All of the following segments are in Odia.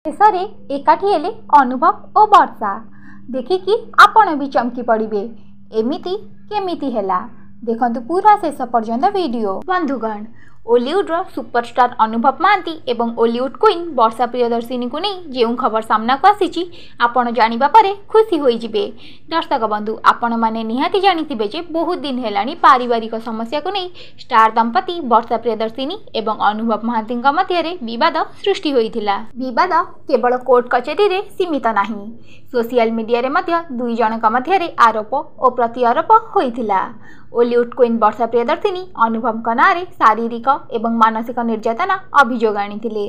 ଶେଷରେ ଏକାଠି ହେଲେ ଅନୁଭବ ଓ ବର୍ଷା। ଦେଖିକି ଆପଣ ବି ଚମକି ପଡ଼ିବେ, ଏମିତି କେମିତି ହେଲା? ଦେଖନ୍ତୁ ପୁରା ଶେଷ ପର୍ଯ୍ୟନ୍ତ ଭିଡ଼ିଓ। ବନ୍ଧୁଗଣ, ଓଲିଉଡ଼ର ସୁପରଷ୍ଟାର ଅନୁଭବ ମହାନ୍ତି ଏବଂ ଓଲିଉଡ଼ କୁଇନ୍ ବର୍ଷା ପ୍ରିୟଦର୍ଶିନୀକୁ ନେଇ ଯେଉଁ ଖବର ସାମ୍ନାକୁ ଆସିଛି, ଆପଣ ଜାଣିବା ପରେ ଖୁସି ହୋଇଯିବେ। ଦର୍ଶକ ବନ୍ଧୁ, ଆପଣମାନେ ନିହାତି ଜାଣିଥିବେ ଯେ ବହୁତ ଦିନ ହେଲାଣି ପାରିବାରିକ ସମସ୍ୟାକୁ ନେଇ ଷ୍ଟାର ଦମ୍ପତି ବର୍ଷା ପ୍ରିୟଦର୍ଶିନୀ ଏବଂ ଅନୁଭବ ମହାନ୍ତିଙ୍କ ମଧ୍ୟରେ ବିବାଦ ସୃଷ୍ଟି ହୋଇଥିଲା। ବିବାଦ କେବଳ କୋର୍ଟ କଚେରୀରେ ସୀମିତ ନାହିଁ, ସୋସିଆଲ ମିଡିଆରେ ମଧ୍ୟ ଦୁଇ ଜଣଙ୍କ ମଧ୍ୟରେ ଆରୋପ ଓ ପ୍ରତିଆରୋପ ହୋଇଥିଲା। ଓଲିଉଡ଼ କୁଇନ୍ ବର୍ଷା ପ୍ରିୟଦର୍ଶିନୀ ଅନୁଭବଙ୍କ ନାଁରେ ଶାରୀରିକ ଏବଂ ମାନସିକ ନିର୍ଯାତନା ଅଭିଯୋଗ ଆଣିଥିଲେ।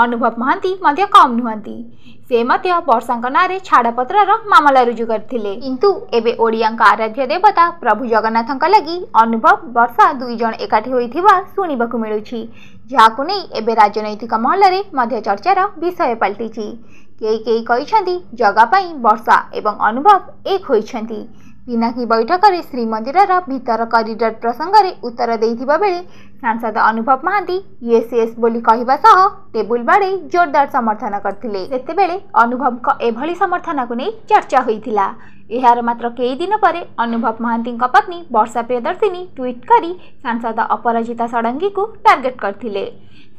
ଅନୁଭବ ମହାନ୍ତି ମଧ୍ୟ କମ୍ ନୁହନ୍ତି, ସେ ମଧ୍ୟ ବର୍ଷାଙ୍କ ନାଁରେ ଛାଡ଼ପତ୍ରର ମାମଲା ରୁଜୁ କରିଥିଲେ। କିନ୍ତୁ ଏବେ ଓଡ଼ିଆଙ୍କ ଆରାଧ୍ୟ ଦେବତା ପ୍ରଭୁ ଜଗନ୍ନାଥଙ୍କ ଲାଗି ଅନୁଭବ ବର୍ଷା ଦୁଇ ଜଣ ଏକାଠି ହୋଇଥିବା ଶୁଣିବାକୁ ମିଳୁଛି, ଯାହାକୁ ନେଇ ଏବେ ରାଜନୈତିକ ମହଲରେ ମଧ୍ୟ ଚର୍ଚ୍ଚାର ବିଷୟ ପାଲଟିଛି। କେହି କେହି କହିଛନ୍ତି ଜଗା ପାଇଁ ବର୍ଷା ଏବଂ ଅନୁଭବ ଏକ ହୋଇଛନ୍ତି। ପିନାକୀ ବୈଠକରେ ଶ୍ରୀମନ୍ଦିରର ଭିତର କରିଡର ପ୍ରସଙ୍ଗରେ ଉତ୍ତର ଦେଇଥିବା ବେଳେ ସାଂସଦ ଅନୁଭବ ମହାନ୍ତି ୟେସ୍ ୟେସ୍ ବୋଲି କହିବା ସହ ଟେବୁଲ ବାଡ଼େଇ ଜୋରଦାର ସମର୍ଥନ କରିଥିଲେ। ସେତେବେଳେ ଅନୁଭବଙ୍କ ଏଭଳି ସମର୍ଥନକୁ ନେଇ ଚର୍ଚ୍ଚା ହୋଇଥିଲା। ଏହାର ମାତ୍ର କେଇ ଦିନ ପରେ ଅନୁଭବ ମହାନ୍ତିଙ୍କ ପତ୍ନୀ ବର୍ଷା ପ୍ରିୟଦର୍ଶିନୀ ଟ୍ୱିଟ୍ କରି ସାଂସଦ ଅପରାଜିତା ଷଡ଼ଙ୍ଗୀଙ୍କୁ ଟାର୍ଗେଟ କରିଥିଲେ।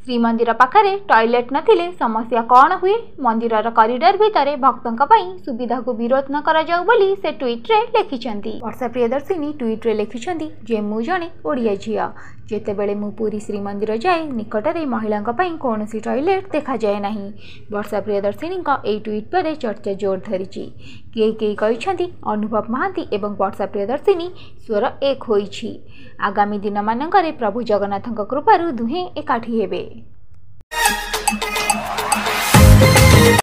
ଶ୍ରୀମନ୍ଦିର ପାଖରେ ଟଏଲେଟ୍ ନଥିଲେ ସମସ୍ୟା କ'ଣ ହୁଏ, ମନ୍ଦିରର କରିଡର ଭିତରେ ଭକ୍ତଙ୍କ ପାଇଁ ସୁବିଧାକୁ ବିରୋଧ ନ କରାଯାଉ ବୋଲି ସେ ଟ୍ୱିଟ୍ରେ ଲେଖିଛନ୍ତି। ବର୍ଷା ପ୍ରିୟଦର୍ଶିନୀ ଟ୍ୱିଟ୍ରେ ଲେଖିଛନ୍ତି ଯେ ମୁଁ ଜଣେ ଓଡ଼ିଆ ଝିଅ। ଯେତେବେଳେ ମୁଁ ପୁରୀ ଶ୍ରୀମନ୍ଦିର ଯାଏ, ନିକଟରେ ମହିଳାଙ୍କ ପାଇଁ କୌଣସି ଟଏଲେଟ୍ ଦେଖାଯାଏ ନାହିଁ। ବର୍ଷା ପ୍ରିୟଦର୍ଶିନୀଙ୍କ ଏହି ଟ୍ୱିଟ୍ ପରେ ଚର୍ଚ୍ଚା ଜୋର ଧରିଛି। କେହି କେହି କହିଛନ୍ତି ଅନୁଭବ ମହାନ୍ତି ଏବଂ ବର୍ଷା ପ୍ରିୟଦର୍ଶିନୀ ସ୍ୱର ଏକ ହୋଇଛି। ଆଗାମୀ ଦିନମାନଙ୍କରେ ପ୍ରଭୁ ଜଗନ୍ନାଥଙ୍କ କୃପାରୁ ଦୁହେଁ ଏକାଠି ହେବେ।